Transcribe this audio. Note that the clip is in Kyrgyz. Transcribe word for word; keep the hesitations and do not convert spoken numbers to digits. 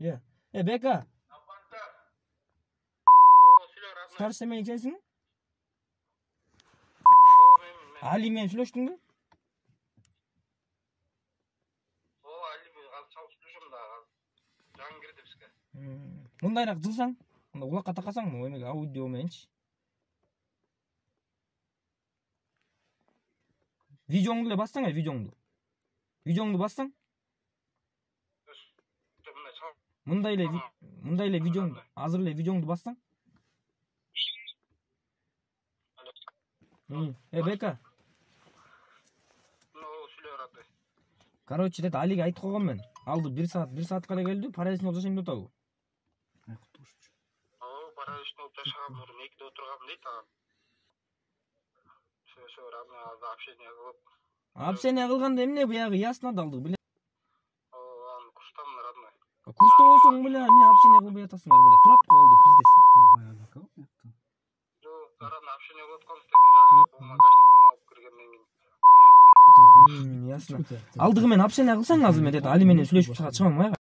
Иә. Э, Бека. О, сүйлө родной. Старший семейник сенсиңби? О, мен мен. Али менен сүйлөштүңбү? О, Али ал чалып сүйлөшөм да. Жаңы кирди бизге. Мындайраак жылсаң, мында кулакка такасаң, эмеге аудио мененчи. Видеоңду эле бассаң, э, видеоңду. Видеоңду бассаң. Мындай эле мындай эле видеоңду, азыр эле видеоңду бассаң. Э, Бека. Ну, сүйлө родной. Короче, дет Алиге айтып койгом мен. Алды бир саат, бир саатка эле келди, параличный болуп жашайм деп атабы? О, параличный болуп жашаган мурун экиде отургам дейт ага. Все, родной алды общение кылып. Общение кылганда эмне буягы ясно далды, биле. О, аны курстан родной. Курста болсоң, биле, эмне общение кылбай атасыңар, биле. Турат го алды пиздесин. Жок, родной общение кылып атканбыз дейт. Жагы болгон гостиница алып киргенден кийин. Ясно. Алдыгы менен общение кылсаң азыр мен дет Али менен сүйлөшүп чыгам майга.